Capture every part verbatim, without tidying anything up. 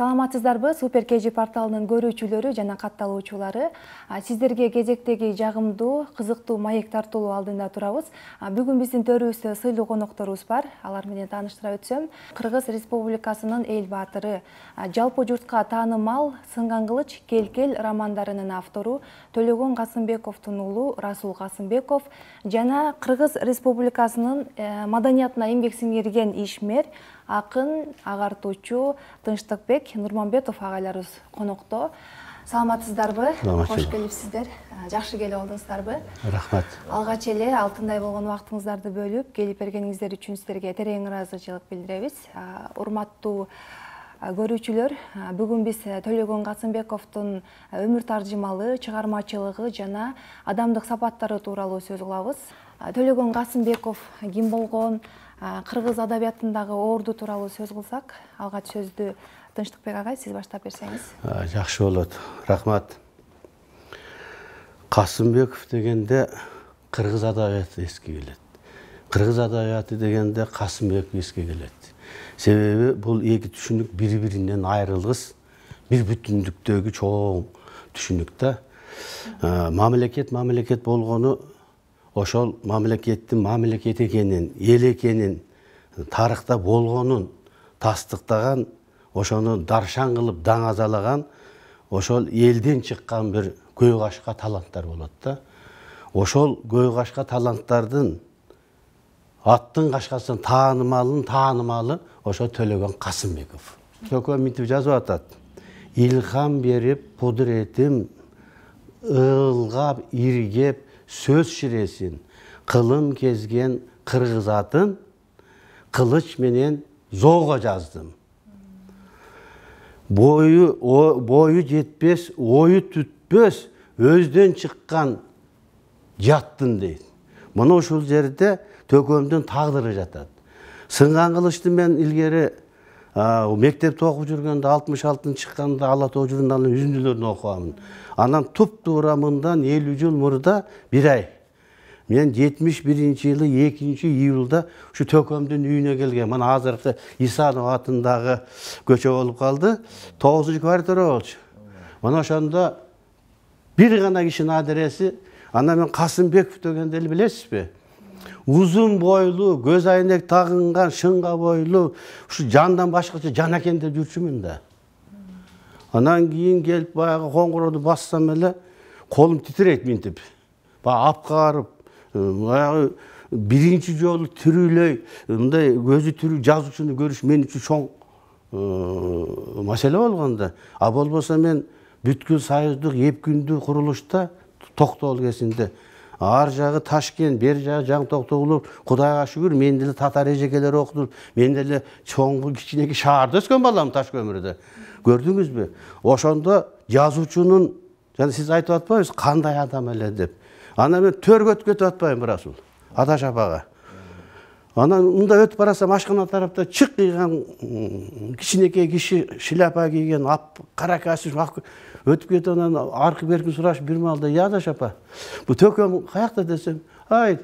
Саламатсыздарбы? Супер кей жи порталынын көрүүчүлөрү жана катталуучулары. Сиздерге кезектеги жагымдуу, кызыктуу маек тартуулоо алдында турабыз. Бүгүн биздин төрүбүздө сыйлуу конокторубуз бар. Алар менен тааныштыра өтсөм, Кыргыз Республикасынын эл баатыры, жалпы журтка таанымал Сынган кылыч Кел-кел романдарынын автору Төлөгөн Касымбековдун уулу Расул Касымбеков жана Кыргыз Республикасынын маданиятына эмгек сиңирген ишмер, акын, агартуучу Тынчтыкбек Нурманбетов агайларыбыз конокто. Саламатсыздарбы? Кош келипсиздер. Жакшы келип алдыңыздарбы? Рахмат. Алгач эле алтындай болгон убактыңыздарды бөлүп келип бергениңиздер үчүн сиздерге терең ыраазычылык билдиребиз. Урматтуу көрүүчүлөр, бүгүн биз Төлөгөн Касымбековдун өмүр таржымалы, чыгармачылыгы жана адамдык сапаттары тууралуу сөз кылабыз. Төлөгөн Касымбеков ким болгон, кыргыз адабиятындагы орду тууралуу сөз кылсак, алгач сөздү Тынчтыкбек агай сиз баштап берсеңиз. Жакшы болот. Рахмат. Касымбеков дегенде кыргыз адабияты эске келет. Кыргыз адабияты дегенде Касымбеков эске келет. Себеби бул эки түшүнүк бири-биринен айрылгыс, бир бүтүндүктөгү чоң түшүнүк да. Мамлекет мамлекет болгону ошол мамлекеттин мамлекет экенин, эл экенин, тарыхта болгонун тастыктаган, ошону даршан кылып даңазалаган, ошол элден чыккан бир көй кашка таланттар болот да. Ошол көй кашка таланттардын аттын кашкасын таанымалын таанымалы ошо Төлөгөн Касымбеков. Көкө мынтип жазып атат. Илхам берип кудуретим ылгап иргеп сөз ширесин, кылым кезген кыргыз атын кылыч менен зоого жаздым. Бою бою жетпес, ою түтпөс, өздөн чыккан жаттын дейт. Мына ушул жерде Төкөмдүн тагдыры жатат. Сынган кылычты мен илгери мектепте окуп жүргөндө алтымыш алтынчы чыкканда Ала Тоо журналынын үзүндүлөрүн окугамын. Анан туп-туура мындан элүү жыл мурда бир ай мен жетимиш биринчи жылы экинчи июлда ушу Төкөмдүн үйүнө келгем. Мына азыркы Исанов атындагы көчө болуп калды. тогузунчу квартира болчу. Мына ошондо бир гана кишинин адреси, ана мен Касымбеков дегенди эле билесизби? Узун бойлуу, көз айнек тагынган, шыңга бойлуу, ушу жандан башкача жан экен деп жүрчүмүн да. Анан кийин келип баягы коңгурооду бассам эле колум титирейт мынтип. Баягы апкарып, баягы биринчи жолу тирүүлөй, мындай көзү тирүү жазуучуну көрүш мен үчүн чоң маселе болгондо. А болбосо мен бүткүл союздук эп күндүк курулушта Токтогул кезинде ар жагы Ташкент, бер жагы Жаң Токтогул, Кудайга шүгүр, мен деле татар эжекелери окудум. Мен деле чоң кичинекей шаарда өскөн балам Таш көмүрдө. Көрдүңүзбү? Ошондо жазуучунун, жана сиз айтып атпайсызбы, кандай адам эле деп. Анан мен төргөткө өтүп атпайм Расул, Аташ апага. Анан мында өтүп барасам ашкана тарапта чык кыйган кичинекей киши, шляпа кийген, кара костюм өтүп кетип, анан аркы беркин сурашып бир маалда, "Я Аташ апа, бу Төкөм каякта?" десем, "Ай,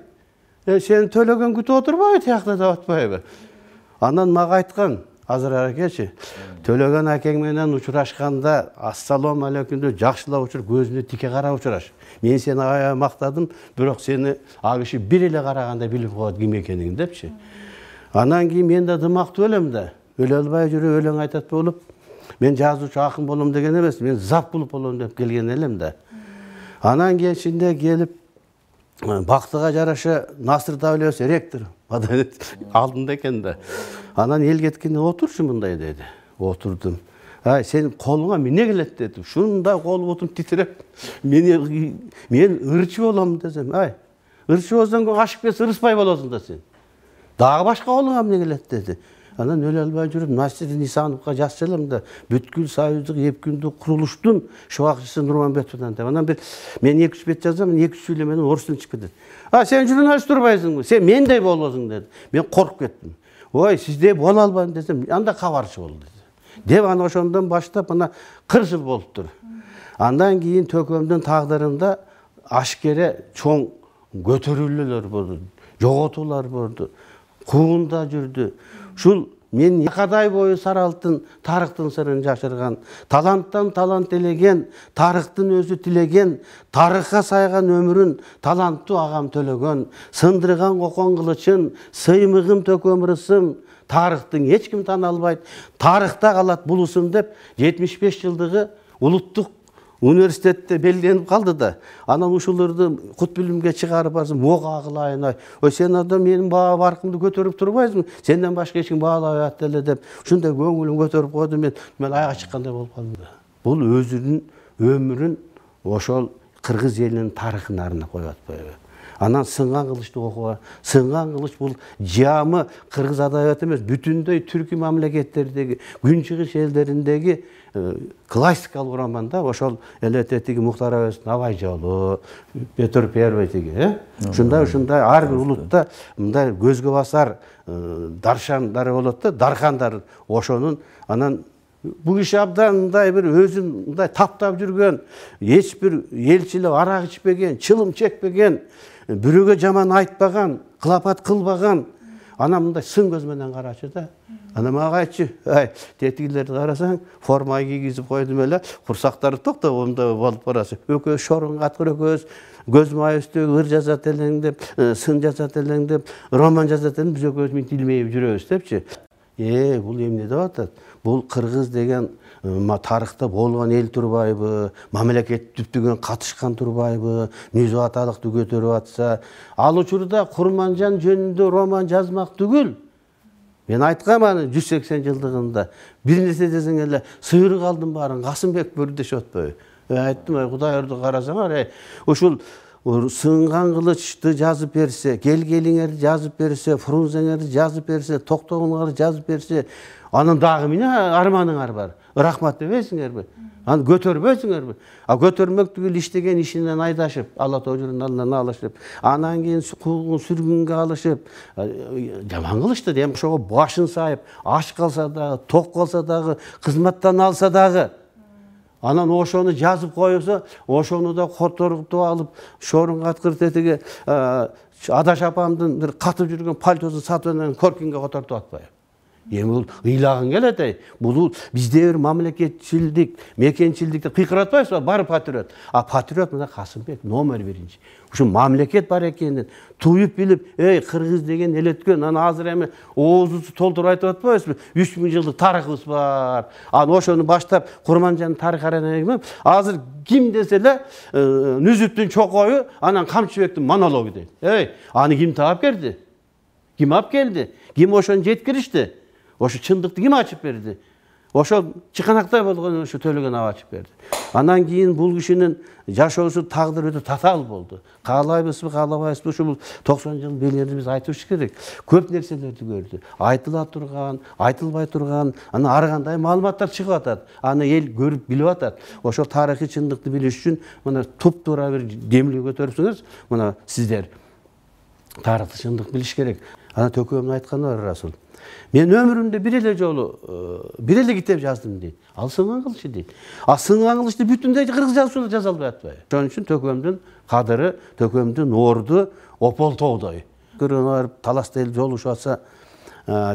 сени Төлөгөн күтүп отурбайбы тиякта?" деп атпайбы. Анан мага айткан, азыр аракечи, "Төлөгөн акең менен учурашканда, ассалам алейкум деп жакшылап учур, көзүнө тике карап учураш. Мен сени аябай мактадым, бирок сени а киши бир эле караганда билип коет ким экениңди" депчи. Анан кийин мен да дымактуу элем да, өлө албай жүрүп өлөң айтат болуп, мен жазуучу акын болом деген эмес, мен зап кылып болом деп келген элем да. Анан кийинчинде келип бактыга жараша Насыр Давлетович ректор алдында экен да. Анан эл кеткенде отурчу мындай деди. Отурдум. "Ай, сенин колуңа эмне келет?" деди. Шундай кол бутум титиреп, мен мен ырчы болом десем, "Ай, ырчы болсоң ашып кетсе ырыспай болосуң да сен. Дагы башка колуңа эмне келет?" деди. Анан өлө албай жүрүп Насирдин Исановго жазчу элем да, бүткүл союздук эп күндүк курулуштун шубакчысы Нурманбетовдон деп. Анан бир мен эки үч бет жазсам, эки үч сүйлө менен орус тилин чыгып кетет. "А, сен журналист турбайсыңбы? Сен мендей болосуң" деди. Мен коркуп кеттим. "Ой, сиздей боло албайм" десем, "Анда кабарчы бол" деди. Деп аны ошондон баштап мына кырк жыл болуптур. Андан кийин Төкөмдүн тагдырында ашкере чоң көтөрүлүүлөр болду, жоготуулар болду, куунда жүрдү. Ушул мен якадай бою сары алтын тарыктын сырын жашырган, таланттан талант элеген, тарыктын өзү тилеген, тарыхка сайган өмүрүн таланттуу агам төлөгөн, сындырган кокон кылычын, сыймыгым төкөм ырысым, тарыхтың эч ким тана албайт, тарыхта калат бул ысым деп жетимиш беш жылдыгы улуттук университетте белгиленип калды да. Анан ушуларды кут билимге чыгарып барсам, мога кылайын, ой сен адам менин баа баркымды көтөрүп турбайсың, сенден башка эч ким баалабай атты эле деп, ушундай көңүлүм көтөрүп койду, мен мен айга чыккандай болуп калдым да. Бул өзүнүн өмүрүн ошол кыргыз элинин тарыхына арнап коюп атпайбы? Анан сынган кылычты окуга, сынган кылыч бул жамы кыргыз адабияты эмес, бүтүндөй түркү мамлекеттердеги, күнчыгыш элдериндеги классикалык роман да. Ошол элете тиги Мухтар Абаевдин Абай жолу, Петр Первый тиги, э? Ушундай ушундай ар бир улутта мындай көзгө басар даршандары болот да, дархандар. Ошонун анан бул киши абдан мындай бир өзүн мындай таптап жүргөн, эч бир элчилеп арак ичпеген, чылым чекпеген, бирөөгө жаман айтпаган, кылапат кылбаган. Анан мындай сын көз менен карачы да. Анан мага айтчы, ай, тетигилерди карасаң, форма кийгизип койдум эле, курсактары токтоп мындай болуп барасы. Өкөз шорун каткыр өкөз, көз май үстүгө ыр жазат элең деп, сын жазат элең деп, роман жазат элең, биз өкөз мынтип илмейип жүрөбүз депчи. Э, бул эмне деп атат? Бул кыргыз деген тарыхта болгон эл турбайбы, мамлекет түптүгөн катышкан турбайбы, мүзү аталыкты көтөрүп атса, ал учурда Курманжан жөнүндө роман жазмак түгүл. Мен айткам аны жүз сексен жылдыгында. Бир нерсе десең эле сыйырып алдым баарын Касымбек Бөрдөш атпайбы? Айттым, ай Кудай өрдү карасаңар, ай ушул сынган кылычты жазып берсе, келгелиңерди жазып берсе, Фрунзеңерди жазып берсе, токтогуңарды жазып берсе, анан дагы эмне арманыңар бар? Рахмат дебейсиңерби? Аны көтөрбөйсүңөрбү? А көтөрмөк түгүл иштеген ишинен айдашып, Алла Тоожунун алдынан алышып, анан кийин куугун сүргүнгө алышып, жаман кылышты дейм. Ошого башын сайып, аш калса дагы, ток калса дагы, кызматтан алса дагы, анан ошону жазып коюлса, ошону да которуп алып, шорун каткыр тетиги Адаш апамдын бир катып жүргөн пальтосун сатып анан Коркинге котортуп атпайбы? Эми бул ыйлагың келет, ай. Бул бизде бир мамлекетчилдик, мекенчилдикти кыйкыратпайсызбы? Бар патриот. А патриот мына Касымбек номер биринчи. Ушу мамлекет бар экенин туюп билип, эй, кыргыз деген эл өткөн, анан азыр эми оозубузду толтуруп айтып атпайбызбы? үч миң жылдык тарыхыбыз бар. Анан ошону баштап Курманжандын тарых аренасына азыр ким десе эле Нүзүттүн чокою, анан Камчыбектин монологу дейт. Эй, аны ким таап келди? Ким алып келди? Ким ошону жеткиришти? Ошо чындыкты ким ачып берди? Ошо чыканактай болгон ошо Төлөгөн аба ачып берди. Анан кийин бул кишинин жашоосу тагдыры өтө татаал болду. Каалайбызбы, каалабайбызбы, ушул токсон жыл белерди биз айтыш керек. Көп нерселерди көрдү. Айтыла турган, айтылбай турган, анан ар кандай маалыматтар чыгып атат. Аны эл көрүп билип атат. Ошол тарыхый чындыкты билиш үчүн мына туп-туура бир демилге көтөрүпсүңүз, мына сиздер тарыхты чындык билиш керек. Анан Төкөмдүн айтканы бар Расул. Мен өмүрүмдө бир эле жолу, бир эле китеп жаздым дейт. Ал сынган кылычы дейт. А сынган кылычты бүтүндөй кыргыз жазуусунда жаза албай атпайбы? Ошон үчүн Төкөмдүн кадыры, Төкөмдүн орду ополтоодой. Көргөнгө барып таласта эл жолугушуп атса,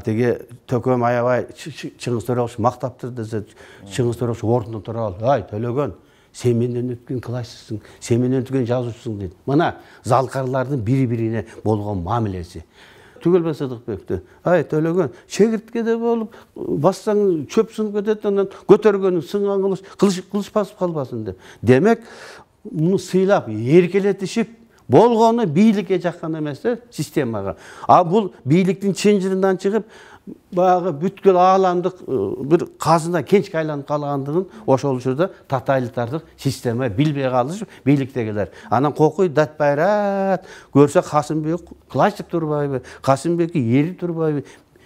тиги Төкөм аябай Чыңгыз Төрөгөчү мактаптыр десе, Чыңгыз Төрөгөчү ордунан тура алып, ай Төлөгөн, сен менден өткөн классчысың, сен менден өткөн жазуучусуң дейт. Мына залкарлардын бири-бирине болгон мамилеси. Түгөлбай Сыдыкбекти, ай Төлөгөн, чегирткеде болуп, бассаң чөп сынып кетет, анан көтөргөнүң сынган кылыч, кылыч кылыч басып калбасын деп. Демек, муну сыйлап, эркелетишип, болгону бийликке жаккан эмес да, системага. А бул бийликтин чынжырынан чыгып, баягы бүткүл ааламдык бир казына кенчке айланып калгандыгын ошол учурда тоталитардык система билбей калышып бийликтегилер. Анан кокуй дат байрат көрсө Касымбек классик турбайбы, Касымбекке эрип турбайбы?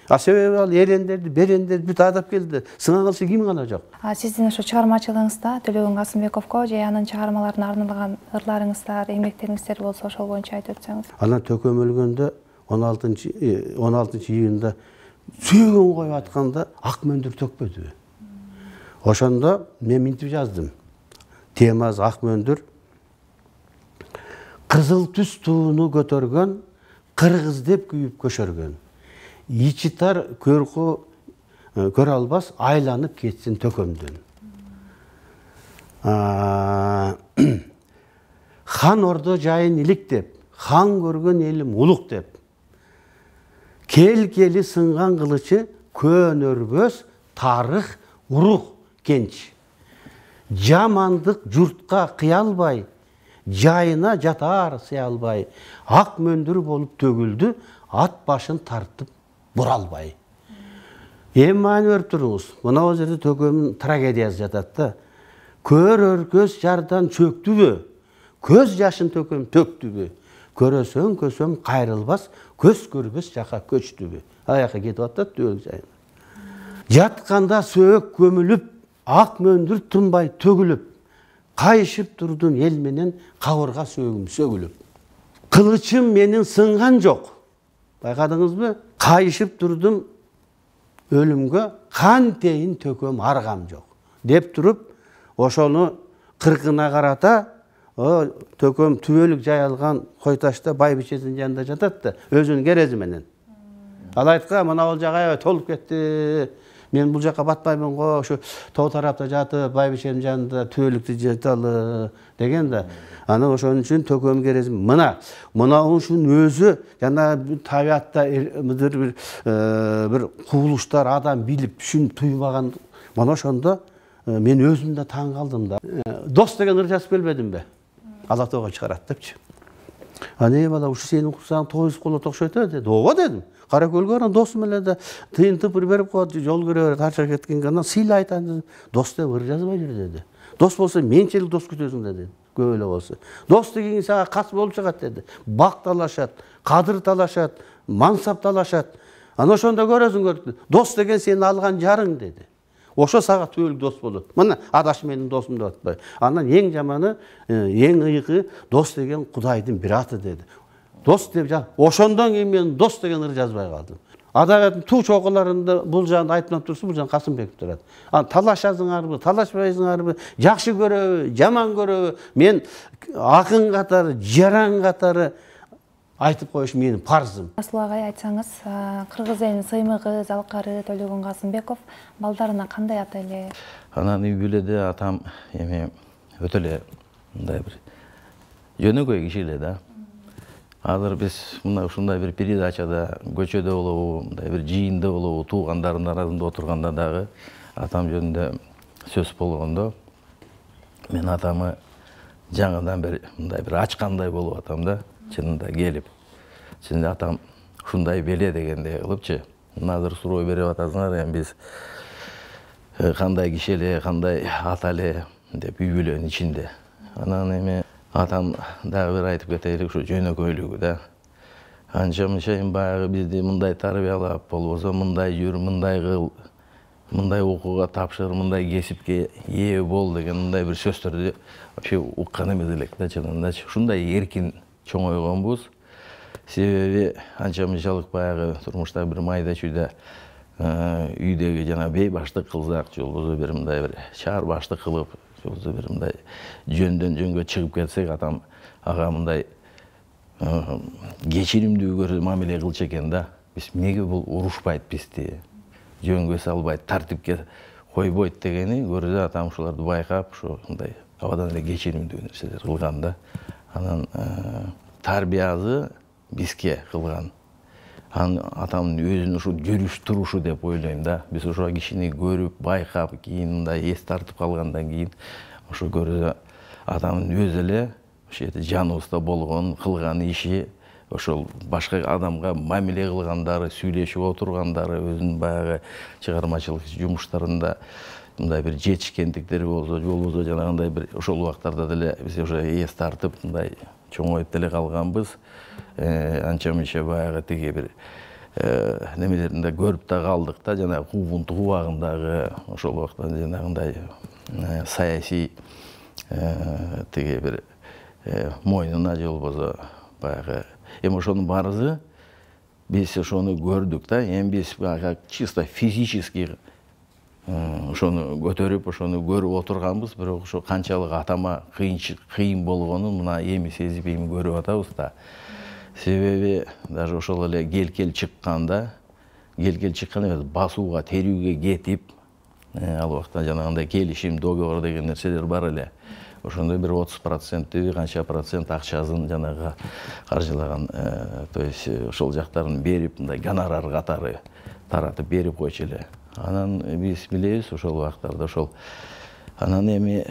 А себеби ал эрендерди, берендерди бүт адап келди. Сынган кылчы ким гана жок. А сиздин ошо чыгармачылыгыңызда Төлөгөн Касымбековго же анын чыгармаларына арналган ырларыңыздар, эмгектериңиздер болсо ошол боюнча айтып өтсөңүз. Анан Төкөм өлгөндө он алтынчы июнда сүйгөн коюп атканда ак мөндүр төкпөдүбү? Ошондо мен мынтип жаздым. Темасы ак мөндүр. Кызыл түс тууну көтөргөн, кыргыз деп күйүп көшөргөн. Ичи тар көркү көрө албас, айланып кетсин төкөмдөн. Хан ордо жайын иликтеп, хан көргөн элим улук деп. Кел кели сынган кылычы көнөрбөс тарых урук кенч. Жамандык журтка кыя албай, жайына жатар сыя албай, ак мөндүр болуп төгүлдү, ат башын тартып бура албай. Эми маани көрүп туруңуз, мына бул жерде төкөмдүн трагедиясы жатат да. Көрөр көз жардан чөктүбү, көз жашын төкөм төктүбү, көрөсөң көсөм кайрылбас, көз көрбөс жака көчтүбү. Аяка кетип атат төөлүк жайына. Жатканда сөөк көмүлүп, ак мөндүр тынбай төгүлүп, кайышып турдум эл менен кабырга сөөгүм сөгүлүп. Кылычым менин сынган жок. Байкадыңызбы? Кайышып турдум өлүмгө, кантейин төкөм аргам жок. Деп туруп, ошону кыркына карата, төкөм түбөлүк жай алган Койташта байбичесинин жанында жатат да, өзүнүн керези менен. Ал айтка, мына бул жагы толуп кетти. Мен бул жака батпаймын го, ошо тоо тарапта жатып, байбиченин жанында түбөлүктү жаталы деген да. Аны ошон үчүн төкөм керези. Мына, мына ушун өзү жана табиатта бир бир кубулуштар адам билип, түшүнүп туймаган. Мына ошондо мен өзүм да таң калдым да. Дос деген ыр жазып келбедимби? Ала тоого чыгарат депчи. Ане бала, ушу сенин курсаң тоюз колот окшойт деди. Ооба дедим. Кара көлгө барам, досум эле да тыйын тыпыр берип коет, жол көрө берет, тарча кеткенге анан сыйлай айтам. Дос деп ыр жазбай жүр деди. Дос болсо менчелик дос күтөсүң деди. Көп эле болсо. Дос деген сага кас болуп чыгат деди. Бак талашат, кадыр талашат, мансап талашат. Ана ошондо көрөсүң көрдү. Дос деген сени алган жарың деди. Ошо сага түбөлүк дос болот. Мына адаш менин досум деп атпай. Анан эң жаманы, эң ыйыгы дос деген Кудайдын бир аты деди. Дос деп жан. Ошондон кийин мен дос деген ыр жазбай калдым. Адабияттын туу чокуларында бул жагын айтмап турсун, бул жагын Касымбеков турат. Анан талашасыңарбы, талашпайсыңарбы, жакшы көрөбү, жаман көрөбү, мен акын катары, жаран катары айтып коюш менин парзым. Расул агай, айтсаңыз, кыргыз элинин сыймыгы, залкары Төлөгөн Касымбеков балдарына кандай ата эле? Анан үй бүлөдө атам эми өтө эле мындай бир жөнөкөй киши эле да. Азыр биз мына ушундай бир передачада, көчөдө болобу, мындай бир жыйында болобу, туугандардын арасында отурганда дагы атам жөнүндө сөз болгондо мен атамы жаңыдан бир мындай бир ачкандай болуп атам да. Чынында келип, чынында атам ушундай беле дегендей кылыпчы. Азыр суроо берип атасыңар, эми биз кандай киши эле, кандай ата эле деп үй бүлөнүн ичинде. Анан эми атам дагы бир айтып кетелик, ушу жөнөкөйлүгү да. Анча мынча эми баягы бизди мындай тарбиялап, болбосо мындай жүр, мындай кыл, мындай окууга тапшыр, мындай кесипке ээ бол деген мындай бир сөздөрдү вообще уккан эмес элек да, чынындачы. Ушундай эркин чоңойгонбуз. Себеби анча мынчалык баягы турмушта бир майда чүйдө үйдөгү жана бей баштык кылсак, же болбосо бир мындай бир чаар баштык кылып, же болбосо бир мындай жөндөн жөнгө чыгып кетсек, атам ага мындай кечиримдүү көрүп мамиле кылчу экен да. Биз эмнеге бул урушпайт бизди, жөнгө салбайт, тартипке койбойт дегени көрдү. Атам ушуларды байкап, ушу мындай абадан эле кечиримдүү нерселер кылган да. Анан тарбиясы бизге кылган. Анан атамдын өзүнүн ушу жүрүш турушу деп ойлойм да. Биз ошо кишини көрүп, байкап, кийин мындай эс тартып калгандан кийин ошо көрдү атамдын өзү эле ошо жаныбызда болгон, кылган иши, ошол башка адамга мамиле кылгандары, сүйлөшүп отургандары, өзүнүн баягы чыгармачылык жумуштарында мындай бир жетишкендиктери болсо, болбосо жанагындай бир ошол убактарда деле биз уже эс тартып мындай чоңоюп деле калганбыз. Анча мынча баягы тиги бир немелеринде көрүп да калдык да, жана Кубунту убагындагы ошол убакта жанагындай саясий тиги бир мойнуна, же болбосо баягы эми ошонун баарысы биз ошону көрдүк да. Эми биз баягы чисто физически ошону көтөрүп, ошону көрүп отурганбыз, бирок ошо канчалык атама кыйын болгонун мына эми сезип, эми көрүп атабыз да. Себеби даже ошол эле кел-кел чыкканда кел-кел чыккан эмес, басууга, терүүгө кетип, ал убакта жанагындай келишим, договор деген нерселер бар эле. Ошондой бир отуз проценттеби канча процент акчасын жанагы каржылаган, то есть ошол жактарын берип, мындай гонорар катары таратып берип койчу эле. Анан биз билебиз ошол убактарда ошол анан эми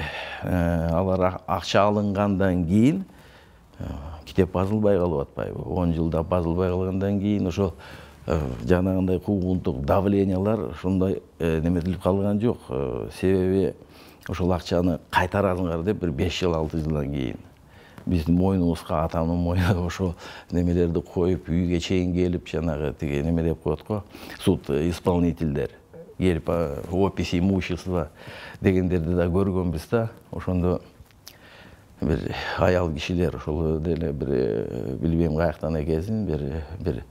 алар акча алынгандан кийин китеп базылбай калып атпайбы? он жылда базылбай калгандан кийин ошол жанагындай куугунтук давлениялар ушундай неметилип калган жок. Себеби ошол акчаны кайтарасыңар деп бир беш жыл алты жылдан кийин биздин мойнубузга, атамдын мойнуна ошол немелерди коюп, үйгө чейин келип, жанагы тиги неме деп коет го, суд исполнительдер келип опись имущества дегендерди да көргөнбүз да. Ошондо бир аял кишилер ошол деле бир билбейм каяктан экенсин, бир бир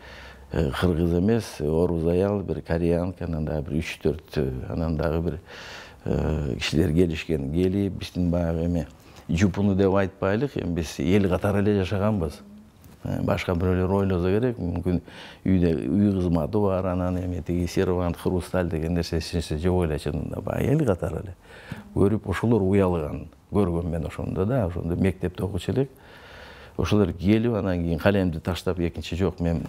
кыргыз эмес, орус аял, бир кореянка, анан дагы бир үч төрт анан дагы бир кишилер келишкен. Келип биздин баягы эми жупуну деп айтпайлык, эми биз эл катары эле жашаганбыз. Башка бирөөлөр ойлосо керек, мүмкүн үйдө үй кызматы бар, анан эми тиги сервант, хрусталь деген нерсеси жок эле, чынында баягы эл катары эле көрүп, ошолор уялган. Көргөм мен ошондо да, ошондо мектепте окучу элек. Ошолор келип, анан кийин калемди таштап, экинчи жок, мен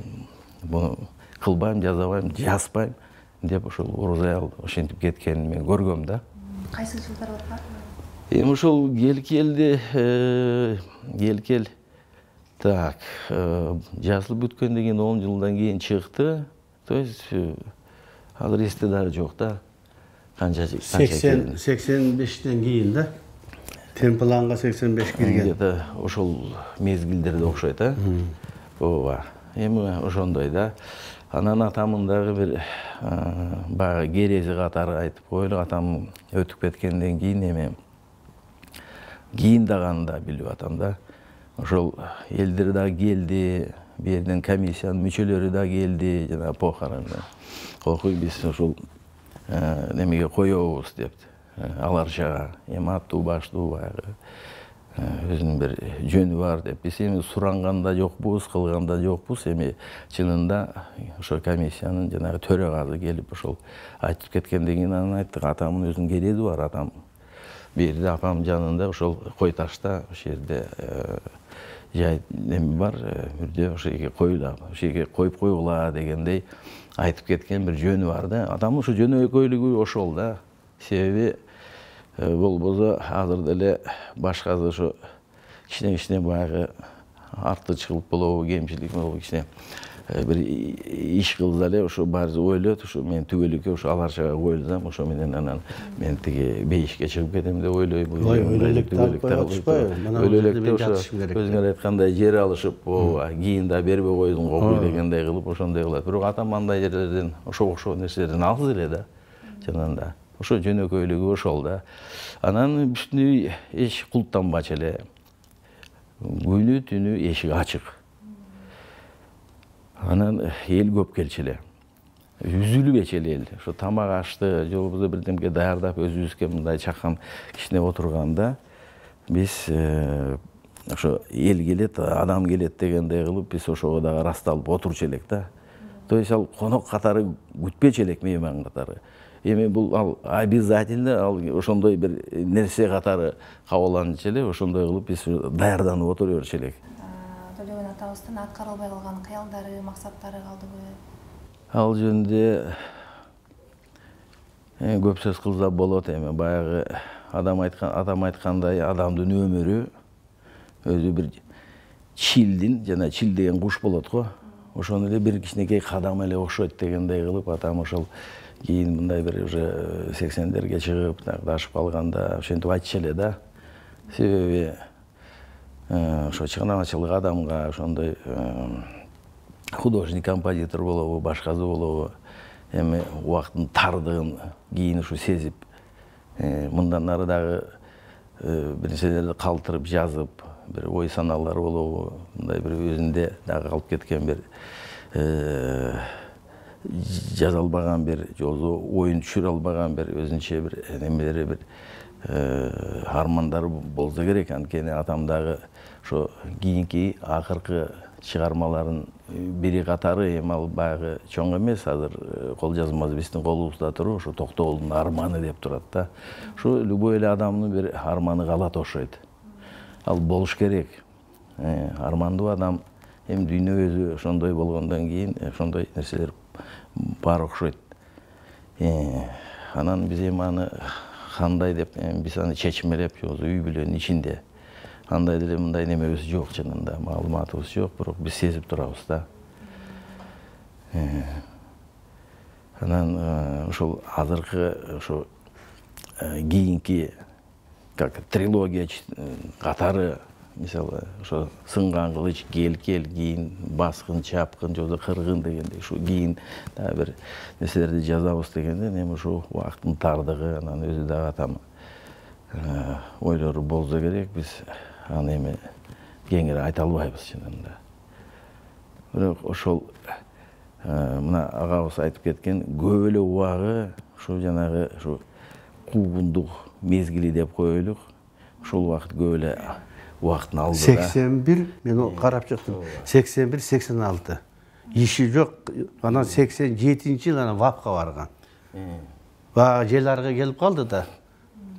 буну кылбайм, жазабайм, жазбайм деп ошол орус аял ошентип кеткенин мен көргөм да. Кайсы жылдар болду? Эми ошол кел-келди, кел-кел так, жазылып бүткөндөн кийин он жылдан кийин чыкты. То есть азыр эсте дагы жок да. Канча сексен сексен бештен кийин да. Темпланга сексен беш кирген. Где-то ошол мезгилдерде окшойт, а? Ооба. Эми ошондой да. Анан атамын дагы бир баягы керези катары айтып коелу. Атам өтүп кеткенден кийин эми кийиндаганда билип атам да. Ошол элдер да келди, бу жерден комиссиянын мүчөлөрү да келди, жана похоронго. Окуй биз ошол немеге коебуз депти. Аларчага эми аттуу баштуу баягы өзүнүн бир жөнү бар деп. Биз эми суранганда жокпуз, кылганда жокпуз. Эми чынында ошо комиссиянын жанагы төрагасы келип ошол айтып кеткенден кийин анан айттык, атамдын өзүнүн керези бар, атам бу жерде апам жанында ошол кой ташта ошол жерде жай неме бар, бирде ошол жерге коюла, ошол жерге коюп койгула дегендей айтып кеткен бир жөнү бар да. Атамдын ошо жөнөкөйлүгү ошол да. Себеби болбосо азыр деле башкасы ошо кичине-кичине баягы артычылык болобу, кемчилик болобу, кичине бир иш кылса эле ошо баары ойлойт, ошо мен түгөлүккө ошо аларчага коюлсам, ошо менен анан мен тиги бейишке чыгып кетем деп ойлойм. Өлөлөктө ошо өзүңөр айткандай жер алышып, ооба, кийин да бербей койдуң го дегендей кылып ошондой кылат. Бирок атам андай жерлерден, ошо окшоо нерселерден алыс эле да. Чынында ошо жөнөкөйлүгү ошол да. Анан үстүнө эч култанбачу эле. Күнү түнү эшик ачык. Анан эл көп келчү эле. Үзүлбөчү эле эл. Ошо тамак ашты, же болбосо бирдемге даярдап өзүбүзгө мындай чакан кичине отурганда биз ошо эл келет, адам келет дегендей кылып биз ошого дагы ырасталып отурчу элек да. То есть ал конок катары күтпөчү элек, мейман катары. Эми бул ал обязательно ал ошондой бир нерсе катары кабыланчу эле, ошондой кылып биз даярданып отура берчү элек. Төлөгөн атабыздын аткарылбай калган кыялдары, максаттары калдыбы? Ал жөнүндө көп сөз кылса болот. Эми баягы адам айткан, адам айткандай адамдын өмүрү өзү бир чилдин, жана чил деген куш болот го. Ошону эле бир кичинекей кадам эле окшойт дегендей кылып атам ошол кийин мындай бир уже сексендерге чыгып, дашып калганда ошентип айтчу эле да. Себеби ошо чыгынамачылык адамга ошондой художник, композитор болобу, башкасы болобу, эми убакыттын тардыгын кийин ушу сезип, мындан ары дагы бир нерселерди калтырып жазып, бир ой санаалар болобу, мындай бир өзүндө дагы калып кеткен бир жаза албаган бир, же болбосо оюн түшүрө албаган бир өзүнчө бир немелери, бир армандары болсо керек. Анткени атам дагы ошо кийинки акыркы чыгармаларын бири катары эми ал баягы чоң эмес, азыр кол жазмасы биздин колубузда туруп, ушу Токтогулдун арманы деп турат да. Ушу любой эле адамдын бир арманы калат окшойт. Ал болуш керек. Армандуу адам эми дүйнө өзү ошондой болгондон кийин ошондой нерселер бар окшойт. Анан биз эми аны кандай деп биз аны чечмелеп, үй бүлөнүн ичинде андай деле мындай немебиз жок, чынында маалыматыбыз жок, бирок биз сезип турабыз да. Анан ошол азыркы ошо кийинки как трилогия катары, мисалы ошо сынган кылыч, кел кел, кийин баскын, чапкын, жолдо кыргын дегендей, ушу кийин дагы бир нерселерди жазабыз дегенден эми ушу убакыттын тардыгы, анан өзү дагы атам ойлору болсо керек, биз аны эми кеңири айта албайбыз чынында. Бирок ошол мына агабыз айтып кеткен көп эле убагы ушу жанагы ушу куугундук мезгили деп коелук. Ошол убакыт көп эле убактын алды. сексен бир, мен карап чыктым. сексен бир сексен алты. Иши жок. Анан сексен жетинчи жыл анан вапка барган. Бага жел арга келип калды да.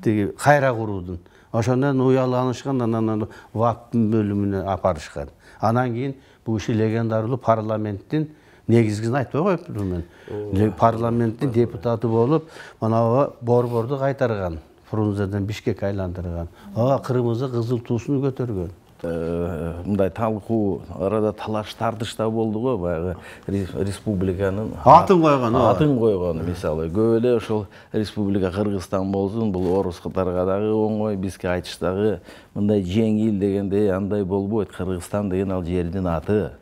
Тиги кайра куруудун. Ошондон уяланышкан, анан ваптын бөлүмүнө апарышкан. Анан кийин бул иши легендардуу парламенттин негизгисин айтпай коюптурмун мен. Парламенттин депутаты болуп, манабу борборду кайтарган. Фрунзеден Бишкекке айландырган. Ага кырмызы кызыл туусун көтөргөн. Мындай талкуу, арада талаш тартыш да болду го, баягы республиканын атын койгон. Атын койгон, мисалы, көп эле ошол республика Кыргызстан болсун, бул орус катарга дагы оңой, бизге айтыштагы мындай жеңил дегенде андай болбойт. Кыргызстан деген ал жердин аты.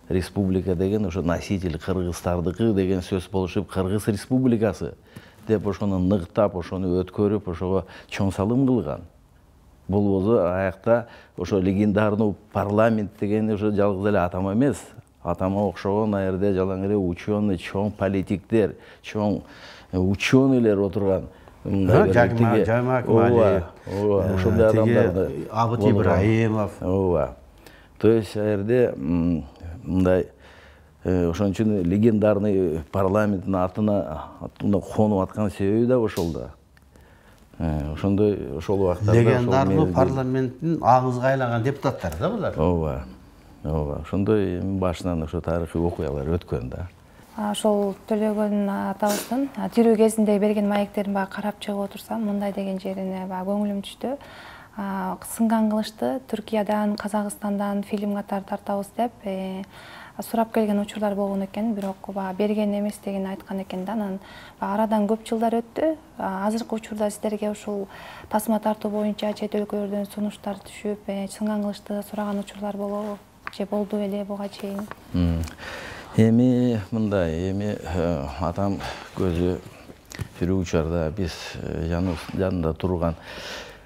Республика деген ошо носитель кыргыздардыкы деген сөз болушуп, Кыргыз республикасы деп ошону ныктап, ошону өткөрүп, ошого чоң салым кылган. Болбосо аякта ошо легендарный парламент деген ошо жалгыз эле атама эмес. Атама окшогон а жерде жалаң эле ученый, чоң политиктер, чоң ученыйлер отурган. Жаймак Мали, ошондой адамдарды. Абыт Ибраимов. Ооба. То есть а жерде мындай ошон үчүн легендарный парламенттин атына конуп аткан себеби да ошол да. Ошондой ошол убактарда легендарный парламенттин агызга айланган депутаттары да булар. Ооба. Ооба. Ошондой башынан ошо тарыхый окуялар өткөн да. Ошол Төлөгөн атабыздын тирүү кезинде берген маектерин баа карап чыгып отурсам, мындай деген жерине баа көңүлүм түштү. Сынган кылычты Түркиядан, Казакстандан фильм катары тартабыз деп сурап келген учурлар болгон экен, бирок берген эмес деген айткан экен да. Анан арадан көп жылдар өттү. Азыркы учурда сиздерге ушул тасма тартуу боюнча чет өлкөлөрдөн сунуштар түшүп, сынган кылычты сураган учурлар болобу? Же болду эле буга чейин? Эми мындай, эми атам көзү тирүү учурда биз жанында турган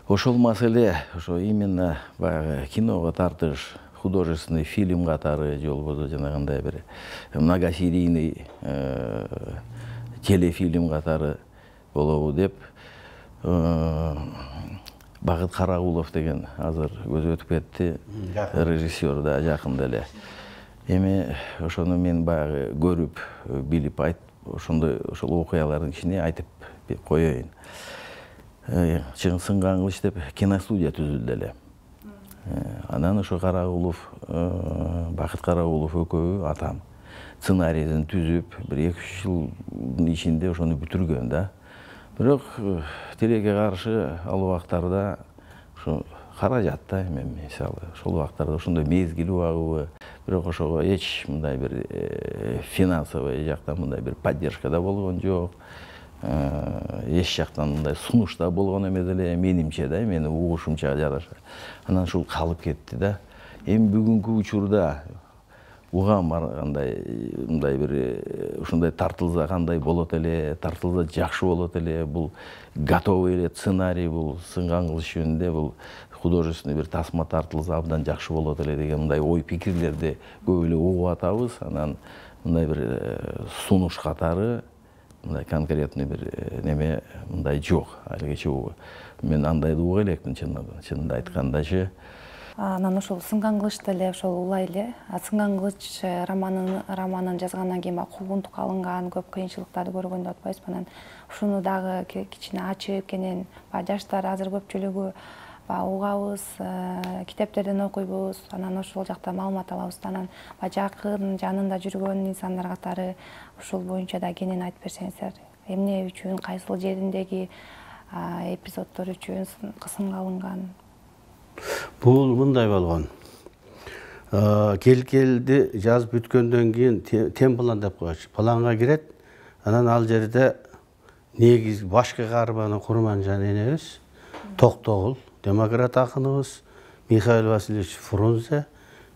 ошол маселе, ошо именно баягы киного тартыш, художественный фильм катары, же болбосо жанагындай бир многосерийный телефильм катары болобу деп Багыт Карагулов деген азыр көзү өтүп кетти, режиссер да жакында эле. Эми ошону мен баягы көрүп, билип айтып, ошондой ошол окуялардын ичине айтып коеюн. Чын сынган кылыч деп киностудия түзүлдү эле. Анан ошо Карагулов, Бакыт Карагулов экөө атам сценарийин түзүп, бир эки үч жылдын ичинде ошону бүтүргөн да. Бирок тилекке каршы ал убактарда ошо каражат да, эми мисалы, ошол убактарда ошондой мезгил убагыбы, бирок ошого эч мындай бир финансовый жактан мындай бир поддержка да болгон жок. Эч жактан мындай сунуш да болгон эмес эле, менимче да, менин угушумча жараша. Анан ушул калып кетти да. Эми бүгүнкү учурда угам кандай мындай бир ушундай тартылса кандай болот эле, тартылса жакшы болот эле, бул готовый эле сценарий, бул сынган кылыч жөнүндө бул художественный бир тасма тартылса абдан жакшы болот эле деген мындай ой пикирлерди көп эле угуп атабыз. Анан мындай бир сунуш катары мындай конкретный бир неме мындай жок алигече. Мен андайды уга элекмин чынында айткандачы. Анан ошол Сынган кылыч деле ошол улай эле. Сынган кылыч романын романын жазгандан кийин баягы куугунтукка алынган, көп кыйынчылыктарды көргөн деп атпайбызбы? Анан ушуну дагы кичине ачып кенен баягы жаштар азыр көпчүлүгү баягы угабыз, китептерден окуйбуз, анан ошол жакта маалымат алабыз. Анан баягы жакын жанында жүргөн инсандар катары ушул боюнча да кенен айтып берсеңиздер. Эмне үчүн, кайсыл жериндеги эпизоддор үчүн кысымга алынган? Бул мындай болгон. Кел-келди жазып бүткөндөн кийин тем план деп койчу. Планга кирет. Анан ал жерде негиз башкы каарманы Курманжан энебиз, Токтогул, демократ акыныбыз, Михаил Васильевич Фрунзе,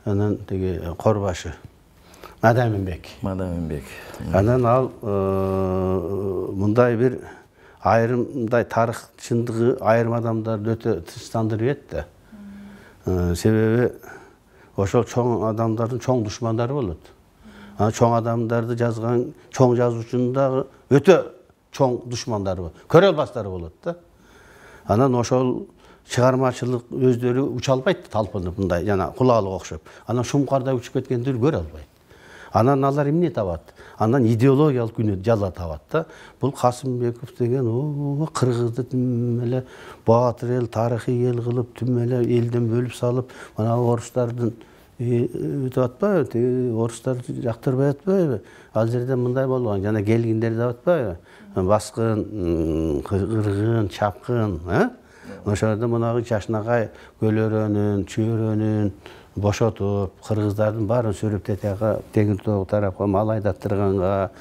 анан теги Корбашы, Мадаминбек. Мадаминбек. Анан ал мындай бир айрымдай тарых чындыгы айрым адамдарды өтө тынчтандырып берет да. Себеби ошол чоң адамдардын чоң душмандары болот. Анан чоң адамдарды жазган чоң жазуучунун дагы өтө чоң душмандары болот. Көрө албастары болот да. Анан ошол чыгармачылык өздөрү уча албайт, талпынып мындай жана кулаалык окшоп. Анан шумкарда учуп кеткендер көрө албайт. Анан алар эмне табат? Анан идеологиялык күнөө жала табат да. Бул Касымбеков деген о кыргызды түм эле баатыр эл, тарыхый эл кылып, түм эле элден бөлүп салып, мына орустардын өтүп атпайбы? Тиги орустар жактырбай атпайбы? Ал жерде мындай болгон, жана келгиндер деп атпайбы? Баскын, кыргын, чапкын, э? Ошолордо мунагы Чашнагай көлөрөнүн, чөйрөнүн бошотуп, кыргыздардын баарын сөрөп тетияга, Теңир Тоого тарапка мал айдаттырганга,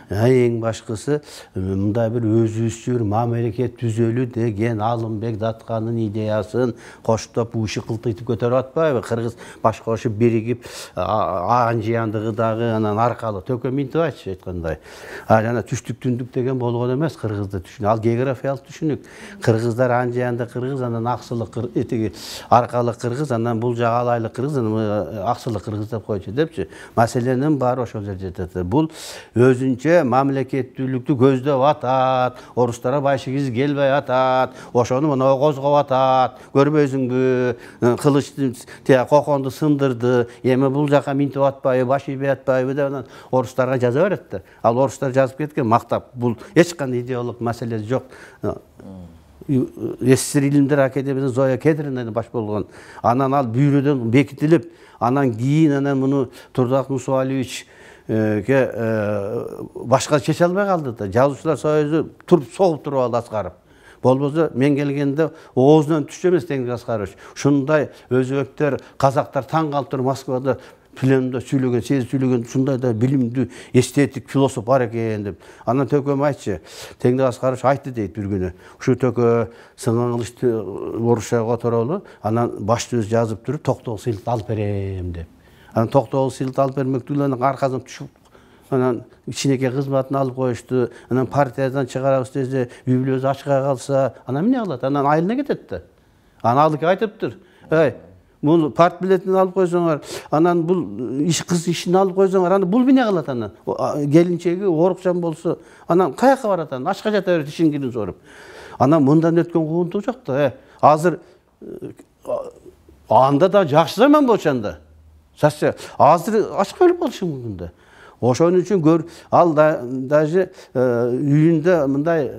эң башкысы мындай бир өзүбүзчө бир мамлекет түзөлү деген Алымбек Датканын идеясын коштоп уши кылтыйтып көтөрүп атпайбы? Кыргыз баш кошуп биригип, Анжияндыгы дагы анан аркалуу Төкө Минтебаевич айткандай. А жана түштүк түндүк деген болгон эмес кыргызды түшүнүк. Ал географиялык түшүнүк. Кыргыздар Анжиянда кыргыз, анан Аксылык этиги аркалык кыргыз, анан бул жагы Алайлык кыргыз, анан Аксылык кыргыз деп койчу депчи. Маселенин баары ошол жерде жатат. Бул өзүнчө мамлекеттүүлүктү көздөп атат, орустарга байшыгиз келбей атат, ошону мына козгоп атат, көрбөйсүңбү, кылычты тия коконду сындырды, эми бул жака минтип атпайбы, баш ийбей атпайбы деп анан орустарга жаза берет да. Ал орустар жазып кеткен мактап, бул эч кандай идеологиялык маселеси жок. СССР Илимдер Академиясынын Зоя Кедрина баш болгон. Анан ал бүйрөдөн бекитилип, анан кийин анан муну Турдак Мусуалиевич башка чече албай калды да. Жазуучулар союзу туруп согуп туруп алды Аскаров. Болбосо мен келгенде оозунан түшчү эмес Теңир Аскарович. Ушундай өзбектер, казактар таң калып туруп Москвада пленумда сүйлөгөн, сезип сүйлөгөн ушундай да билимдүү эстетик философ бар экен деп. Анан Төкөм айтчы, Теңир Аскарович айтты дейт бир күнү. Ушу Төкө Сынган кылычты орусчага которолу, анан башты өз жазып туруп Токтогул сыйлык алып берем деп. Анан Токтогул сыйлык алып бермектүүлөрүнүн аркасынан түшүп, анан кичинекей кызматын алып коюшту. Анан партиядан чыгарабыз десе, үй-бүлөсү ачка калса, анан эмне кылат? Анан айылына кетет да. Анан алык айтыптыр. Эй, бул парт билетин алып койсоңор, анан бул иш кыз ишин алып койсоңор, анан бул эмне кылат анан? Келинчеги орукчан болсо, анан каяка барат анан? Ачка жата берет ишин кирин соруп. Анан мындан өткөн куугунтук жок да. Азыр анда да жакшы заман болчу анда. Сасы азыр ачка өлүп калышы мүмкүн да. Ошон үчүн көр ал даже үйүндө мындай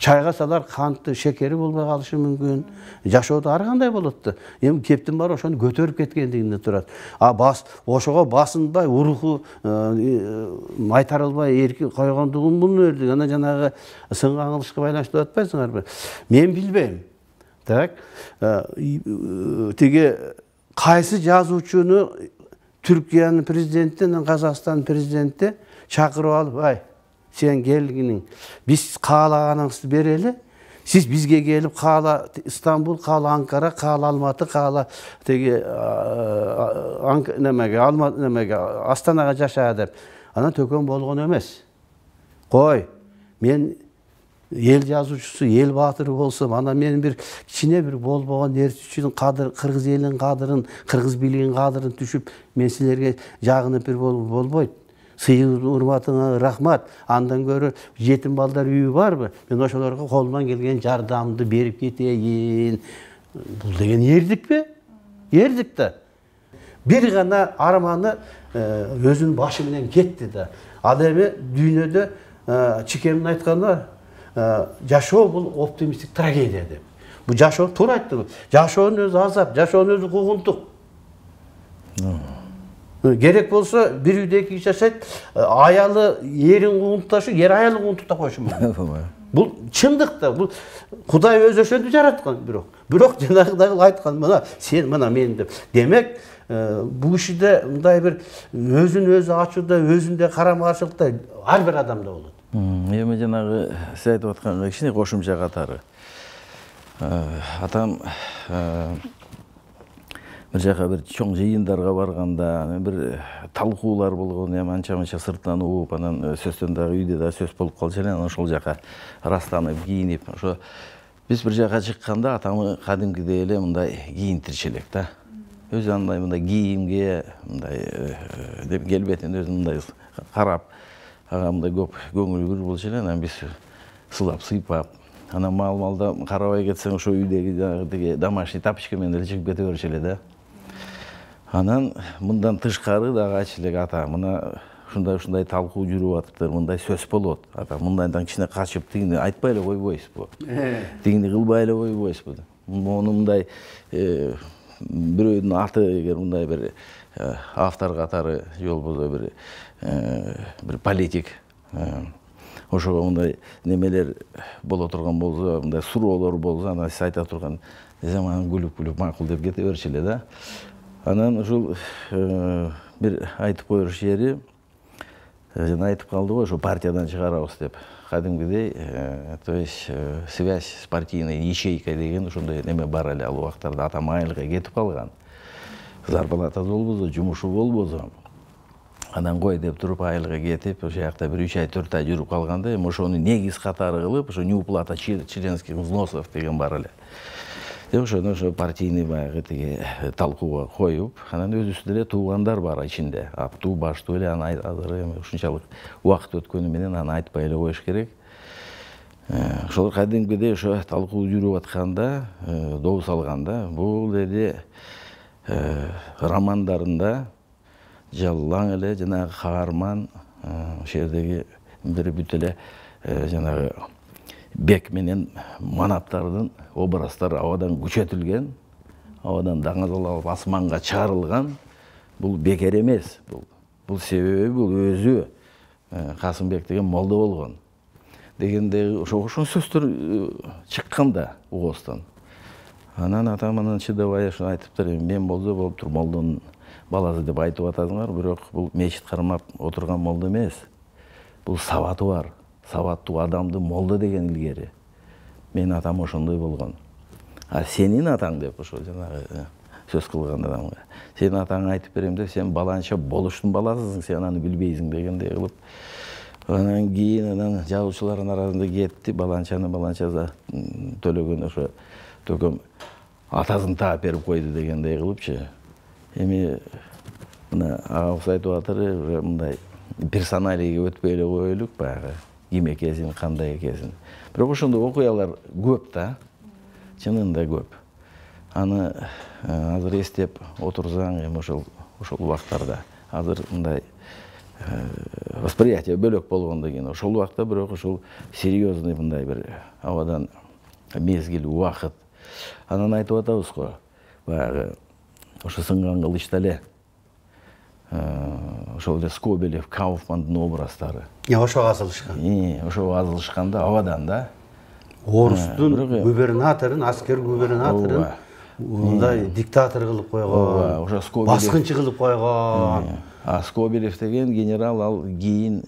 чайга салар канты, шекери болбой калышы мүмкүн. Жашоодо ар кандай болот да. Эми кептин баары ошону көтөрүп кеткендигинде турат. А бас ошого басынбай, уруху майтарылбай эрки койгондугун муну өрдүк. Анан жанагы Сынган кылычка байланыштуу атпайсыңарбы? Мен билбейм. Так, тиги кайсы жазуучуну Түркиянын президенти, Казакстандын президенти чакырып алып, ай, сен келгиниң, биз каалаганыңызды берели, сиз бизге келип каала Стамбул, каала Анкара, каала Алматы, каала теги немеге, Алматы немеге, Астанага жаша деп. Анан Төкөм болгон эмес. Кой, мен эл жазуучусу, эл баатыры болсом, анан мен бир кичине бир болбогон нерсе кадыр, кыргыз элинин кадырын, кыргыз бийлигинин кадырын түшүп, мен силерге жагынып бир болбойт. Сыйы урматыңа рахмат. Андан көрө жетим балдар үйү барбы? Мен ошолорго колумдан келген жардамды берип кетейин. бул деген эрдикпи? Эрдик да. Бир гана арманы өзүнүн башы менен кетти да. Ал эми дүйнөдө Чикемдин айтканы жашоо бул оптимисттик трагедия деп. Бул жашоо туура айтты. Жашоонун өзү азап, жашоонун өзү куугунтук. Керек болсо бир үйдө эки киши жашайт, аялы эрин куугунтукташы, эр аялы куугунтукта койушу мүмкүн. Бул чындык да, бул Кудай өзү ошентип жараткан бирок. Бирок жанагыдай айткан, мына сен, мына мен деп. Демек, бул кишиде мындай бир өзүн өзү ачууда, өзүндө карама-каршылыкта ар бир адамда болот. Эми жанагы сиз айтып атканга кичине кошумча катары. Атам бир жака бир чоң жыйындарга барганда, бир талкуулар болгон, эми анча-мынча сырттан угуп, анан сөздөн дагы үйдө да сөз болуп калчу эле, анан ошол жака растанып, кийинип, ошо биз бир жака чыкканда атамы кадимкидей эле мындай кийинтирчү элек да. Өзү андай мындай кийимге, мындай деп келбетин өзү мындай карап, ага мындай көп көңүл буруу болчу эле, анан биз сылап, сыйпап, анан мал-малда карабай кетсең ошо үйдөгү жанагы домашний тапочка менен эле чыгып кете берчү эле да. Анан мындан тышкары дагы айтчу элек, ата, мына ушундай-ушундай талкуу жүрүп атыптыр, мындай сөз болот. Ата, мындайдан кичине качып, тигини айтпай эле койбойсузбу? Тигини кылбай эле койбойсузбу? Мону мындай бирөөнүн аты эгер мындай бир автор катары же болбосо бир бир политик ошого мындай немелер боло турган болсо, мындай суроолор болсо, анан сиз айта турган заман күлүп-күлүп макул деп кете берчү эле да. Анан ушул бир айтып коер жери, жана айтып калды го, ошо партиядан чыгарабыз деп. Кадимкидей, то есть связь с партийной ячейкой деген ошондой неме бар эле ал убактарда. Атам айылга кетип калган. Зарплатасы болбосо, жумушу болбосо. Анан кой деп туруп айылга кетип, ошол жакта бир үч ай, төрт ай жүрүп калганда, эми ошону негиз катары кылып, ошо неуплата членских взносов деген бар эле. Деп ошону ошо партийный баягы тиги талкууга коюп, анан өзүбүздө эле туугандар бар ичинде. Аптуу, баштуу эле, анан азыр эми ушунчалык убакыт өткөнү менен аны айтпай эле коюш керек. Ошол кадимкидей ошо талкуу жүрүп атканда, добус алганда, бул деди романдарында жаллаң эле жанагы каарман ошол жердеги бир бүт эле жанагы бек менен манаптардын образдар абадан күчөтүлгөн, абадан даңазалап асманга чыгарылган. Бул бекер эмес. Бул бул себеби бул өзү Касымбек деген молдо болгон. Дегенде ошо ошол сөздөр чыкканда угостон. Анан атам анан чыдабай ошо айтыптыр, мен болсо болуптур, молдонун баласы деп айтып атасыңар, бирок бул мечит кармап отурган молдо эмес. Бул сабаты бар. Сабаттуу адамды молдо деген илгери. Менин атам ошондой болгон. А сенин атаң деп ошо жанагы сөз кылган адамга. Сенин атаңа айтып берем деп, сен баланча болуштун баласысың, сен аны билбейсиң дегендей кылып. Анан кийин анан жазуучулардын арасында кетти, баланчаны баланчада төлөгөн ошо төкөм атасын таап берип койду дегендей кылыпчы. Эми мына агабыз айтып атыр, мындай персоналийге өтпөй эле коелук баягы. Ким экенсин, кандай экенсин. Бирок ошондой окуялар көп да. Чынында көп. Аны азыр эстеп отурсаң, эми ошол ошол убактарда азыр мындай восприятие бөлөк болгондон кийин ошол убакта бирок ошол серьезный мындай бир абадан мезгил, убакыт. Анан айтып атабыз го, баягы ошо сынган кылычта эле ошол эле Скобелев, Кауфмандын образдары. Ошого азылышкан. Ошого азылышканда абадан да. Орустун губернаторун, аскер губернаторун мындай диктатор кылып койгон. Ошо Скобелев баскынчы кылып койгон. А Скобелев деген генерал ал кийин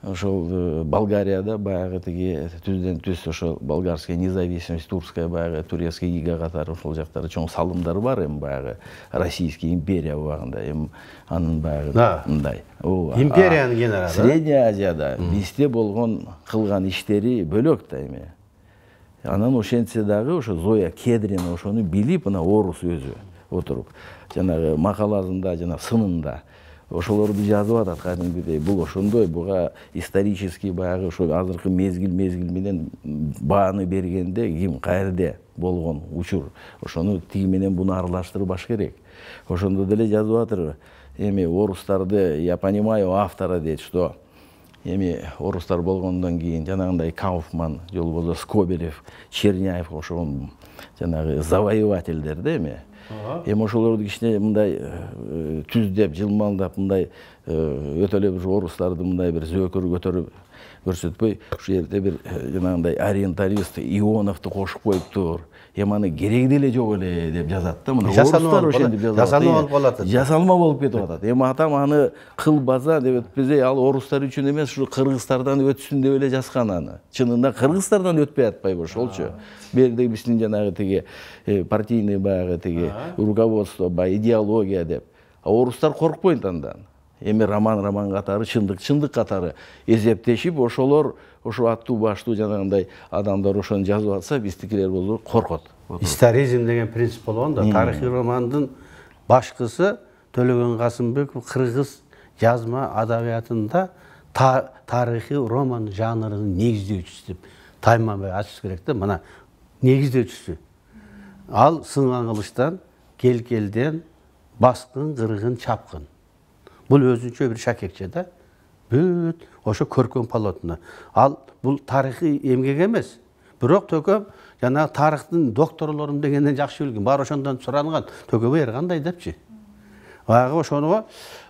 ошол Болгарияда баягы тиги түздөн түз ошол болгарская независимость, турская баягы турецкий ига катары ошол жактары чоң салымдар бар эми баягы Российский империя убагында эми анын баягы мындай. Империянын генералы. Средняя Азияда бизде болгон кылган иштери бөлөк да эми. Анан ошентсе дагы ошо Зоя Кедрина ошону билип, мына орус өзү отуруп жанагы макаласында, жана сынында ошолорду жазып атат кадимкидей. Бул ошондой, буга исторический баягы ошо азыркы мезгил мезгил менен бааны бергенде ким каерде болгон учур. Ошону тиги менен буну аралаштырбаш керек. Ошондо деле жазып атыр. Эми орустарды, я понимаю автора дейт, что эми орустар болгондон кийин жанагындай Кауфман, же болбосо Скобелев, Черняев ошол жанагы завоевательдер да эми. Эми ошолорду кичине мындай түздеп, жылмалдап, мындай өтө эле бир орустарды мындай бир зөөкөр көтөрүп көрсөтпөй, ушул жерде бир жанагындай ориенталист Ионовду кошуп коюптур. Эми аны кереги деле жок эле деп жазат да. Мына орустар ошентип жазат. Жасалма болуп калат. Жасалма болуп кетип атат. Эми атам аны кылбаса деп өтпөзөй, ал орустар үчүн эмес, ушу кыргыздардан өтсүн деп эле жазган аны. Чынында кыргыздардан өтпөй атпайбы ошолчу. Берде биздин жанагы тиги партийный баягы тиги руководство, баягы идеология деп. А орустар коркпойт андан. Эми роман роман катары, чындык чындык катары эзептешип, ошолор ошо аттуу баштуу жанагындай адамдар ошону жазып атса, биздикилер болсо коркот. Историзм деген принцип болгон да. Тарыхый романдын башкысы Төлөгөн Касымбеков кыргыз жазма адабиятында тарыхый роман жанрынын негиздөөчүсү деп тайманбай ачыш керек да. Мына негиздөөчүсү. Ал Сынган кылычтан, Келкелден, баскын, кыргын, чапкын. Бул өзүнчө бир шакекче да. Бүт ошо көркөм полотно. Ал бул тарыхый эмгек эмес. Бирок Төкөм жана тарыхтын докторлорум дегенден жакшы билген. Баары ошондон суранган. Төкөм эр кандай депчи. Баягы ошону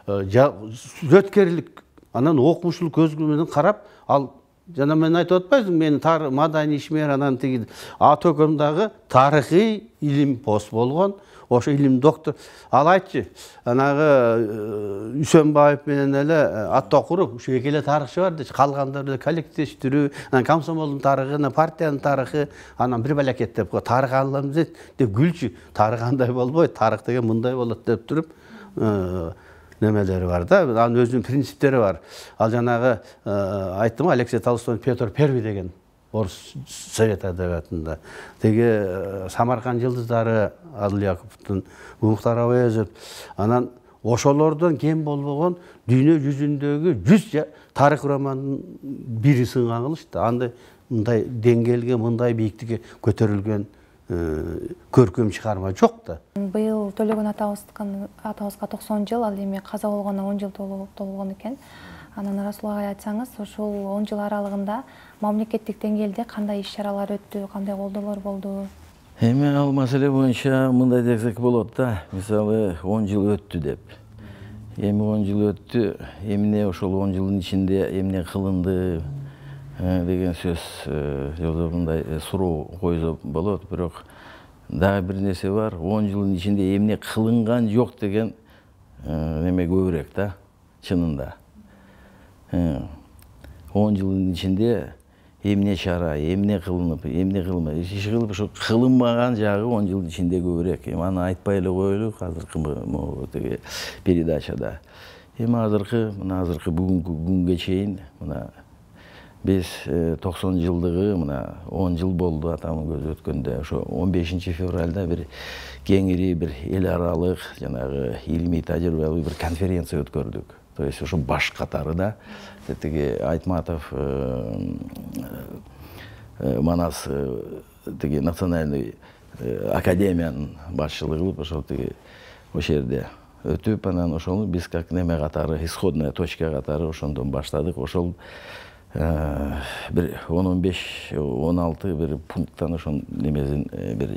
сүрөткерлик, анан окумуштуу көз менен карап, ал жана мен айтып атпайсың, мен тар маданий ишмер анан тиги а Төкөм дагы тарыхый илим пост болгон. Ошо илим доктор. Ал айтчы, анагы Үсөнбаев менен эле Аттокуров ушу эки эле тарыхчы бар дечи, калгандар эле коллективдештирүү, анан комсомолдун тарыхы, анан партиянын тарыхы, анан бир балакет деп тарых алабыз деп күлчү. Тарых андай болбойт, тарых деген мындай болот деп туруп немелери бар да. Анын өзүнүн принциптери бар. Ал жанагы айттым, Алексей Толстой Петр Первый деген орус совет адабиятында. Теги Самарканд жылдыздары Адыл Яковтун, Мухтар Абаезов, анан ошолордон кем болбогон дүйнө жүзүндөгү жүз тарых романдын бири Сынган кылыч да. Андай мындай деңгээлге, мындай бийиктикке көтөрүлгөн көркөм чыгарма жок да. Быйыл Төлөгөн атабызга токсон жыл, ал эми каза болгонуна он жыл толгон экен. Анан Расулга айтсаңыз, ошол он жыл аралыгында мамлекеттик деңгээлде кандай иш-чаралар өттү, кандай колдоолор болду? Эми ал маселе боюнча мындай десек болот да. Мисалы он жыл өттү деп. Эми он жыл өттү, эмне ошол он жылдын ичинде эмне кылынды деген сөз жолдо мындай суроо койсо болот. Бирок дагы бир нерсе бар, он жылдын ичинде эмне кылынган жок деген неме көбүрөөк да, чынында. он жылдын ичинде эмне чара, эмне кылынып, эмне кылынбай, иш кылып, ошо кылынбаган жагы он жылдын ичинде көбүрөөк. Эми аны айтпай эле коелу азыркы могу тиги передачада. Эми азыркы, мына азыркы бүгүнкү күнгө чейин мына биз токсон жылдыгы мына он жыл болду атамын көзү өткөндө. Ошо он бешинчи февралда бир кеңири бир эл аралык жанагы илимий тажрыйбалык бир конференция өткөрдүк. То есть ошо баш катары да тиги Айтматов Манас тиги национальный академиянын башчылыгы кылып ошол тиги ошол жерде өтүп, анан ошону биз как неме катары, исходная точка катары ошондон баштадык. Ошол бир он он беш он алты бир пункттан ошол немесин бир